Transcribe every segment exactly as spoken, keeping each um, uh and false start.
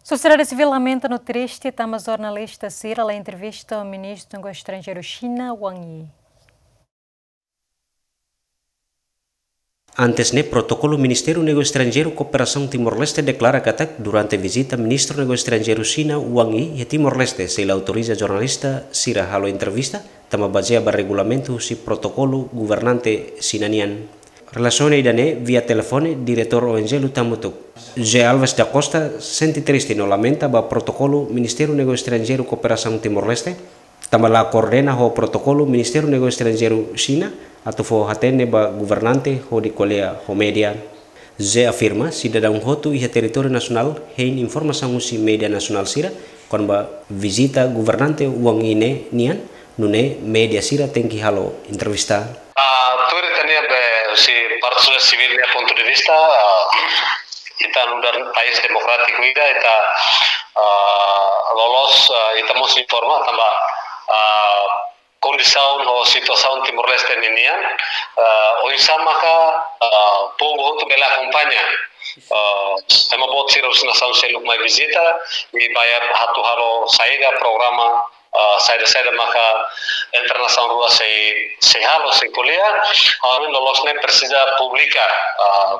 Sosiedade sivíl lamenta no triste tanba jornalista sira la entrevista Ministru Negósiu Estranjeiru Xina, Wang Yi. Antes ne'e, protokolu Ministériu Negósiu Estranjeiru Kooperasaun Timor-Leste deklara katak durante vizita Ministru Negósiu Estranjeiru Xina, Wang Yi, iha Timor-Leste, sei la autoriza jornalista sira halo entrevista, tanba bazeia ba regulamentu husi protokolu governante Xina nian. Relasiona ida-ne'e via telefone, Diretór O N G Lutan Hamutuk, José Alves da Costa, sente triste no lamenta ba protokolu Ministériu Negósiu Estranjeiru Kooperasaun Timor-Leste, tanba la koordena ho protokolu Ministériu Negósiu Estranjeiru Xina atu fó hatene ba governante hodi ko'alia ho média. José afirma, sidadaun hotu iha territóriu nasionál hein informasaun husi média nasionál sira kona-ba vizita governante Wang Yi ne'e nian, nune'e média sira tenke halo entrevista. Ah, tuir ita-nia be, husi parte sosiedade sivíl nia pontu de vista, ah, ita nu'udar país demokrátiku ida, ita, ah, loloos, ah, ita mós informa tanba, ah, kondisaun ou situasaun Timor-Leste ninian, ah, oinsá maka, ah, povu hotu bele akompaña. Ah, ema boot sira husi nasaun seluk mai vizita, i ba atu halo saida programa, ah, saida-saida maka entre nasaun rua sei, sei halo, sei ko'alia, ha'u hanoin loloos ne'e presiza publika, ah,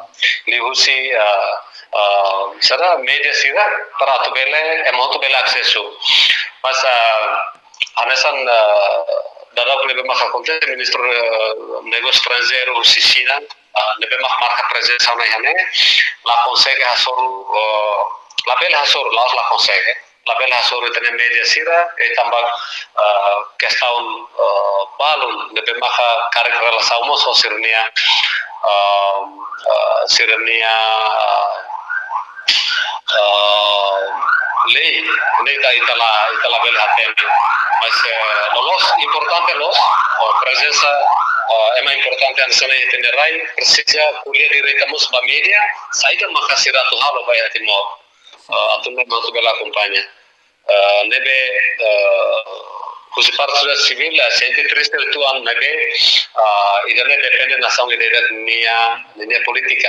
liuhusi, ah, ah, sira média sira para atu bele, ema hotu bele asesu. Mas, ah, hanesan, ah, daudaun ne'ebé maka akontese, Ministru, ah, Negósiu Estranjeiru husi Xina, ah, ne'ebé mak marka prezensa ona iha ne'e, la konsege hasoru, ah, labele hasoru, la'ós la konsege. Labele hasoru ita-nia média sira, eh, tanba, ah, kestaun, ah, balun, ne'ebé maka karik relasaun mós ho sira-nia, ah, ah, sira-nia, ah, lei, ne'e ita, ita la, ita labele hatene. Mas, eh, loloos, importante loos, ah, prezensa, ah, ema importante hanesan ne'e iha ita-nia rai, presiza ko'alia direta mós ba média, saida maka sira atu halo ba iha Timor. Ah, atu nune'e mak atu bele akompaña. Ah, ne'ebé, ah, husi parte sosiedade sivíl, ah, sente triste uitoan ne'ebé, ah, ida-ne'e depende nasaun ida-idak nia, nia polítika.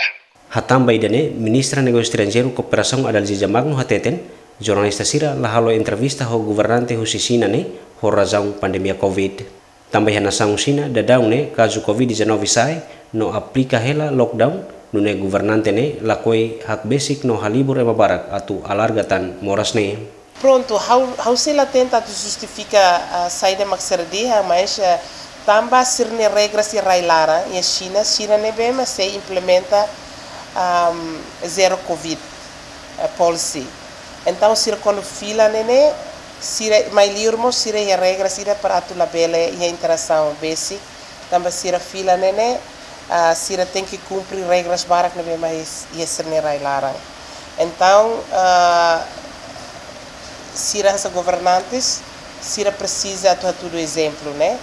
Hatán ba ida-ne'e, Ministra Negósiu Estranjeiru Kooperasaun Adalgisa Magno hateten, jornalista sira la halo entrevista ho governante husi Xina ne'e, ho razaun pandemia Covid. Tanba iha nasaun Xina, daudaun ne'e kazu Covid dezanove sa'e, no aplika hela lockdown, nune'e governante ne'e lakohi hakbesik no halibur ema barak atu alarga tan moras ne'e. Prontu, ha'u, ha'u sei la tenta atu justifika, ah, saida mak sira dehan, mas, ah, tanba sira-nia regras iha rai-laran, iha Xina, Xina ne'ebé mak sei implementa, ahm, zero Covid, eh, policy. Entaun, sira kuandu fila ne'e ne'e, sira mai liur mós sira iha regras sira para atu labele iha interasaun besik, tanba sira fila ne'e ne'e, ah, sira tenke kumpre regras barak ne'ebé mak iha sira-nia rai-laran. Entaun, ah, sira hanesan governantes, sira presiza atu hatudu ezemplu, ne'e?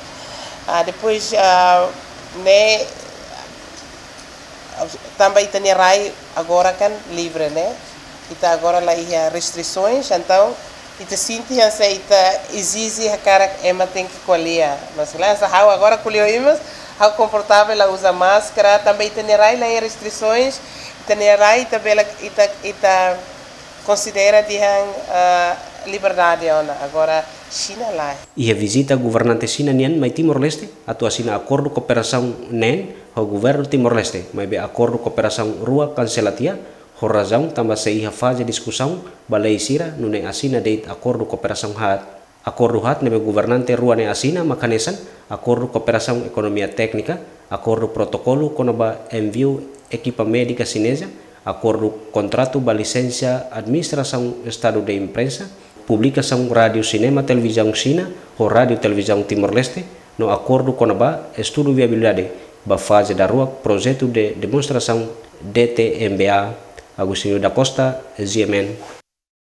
Ah, depois, ah, ne'e, tanba ita-nia rai agora kan livre, ne'e? Ita agora la iha restrisoens, entaun ita sente hanesan ita ezije hakarak ema tenke ko'alia. Mas la hanesan ha'u agora ko'alia ho imi, ha'u konfortavel la uza máskara, tanba ita-nia rai la iha restrisoens, ita-nia rai ita bele, ita, ita konsidera dehan, ah, liberdade ona. Agora Xina lae. Iha vizita governante Xina nian mai Timor-Leste atu asina akordu kooperasaun neen ho governu Timor-Leste, maibé akordu kooperasaun rua kansela tiha, ho razaun tanba sei iha faze diskusaun ba lei sira, nune'e asina de'it akordu kooperasaun haat. Akordu haat ne'ebé governante rua ne'e asina mak hanesan akordu kooperasaun ekonomia téknika, akordu protokolu kona-ba enviu ekipa médika xineza, akordu kontratu ba lisensa administrasaun estadu de imprensa, publikasaun rádiu, sinema, televizaun Xina, ho rádiu televizaun Timor-Leste, no akordu kona-ba estudu viabilidade ba faze daruak projetu de demonstrasaun D T M B A. Agostinho da Costa, G M N.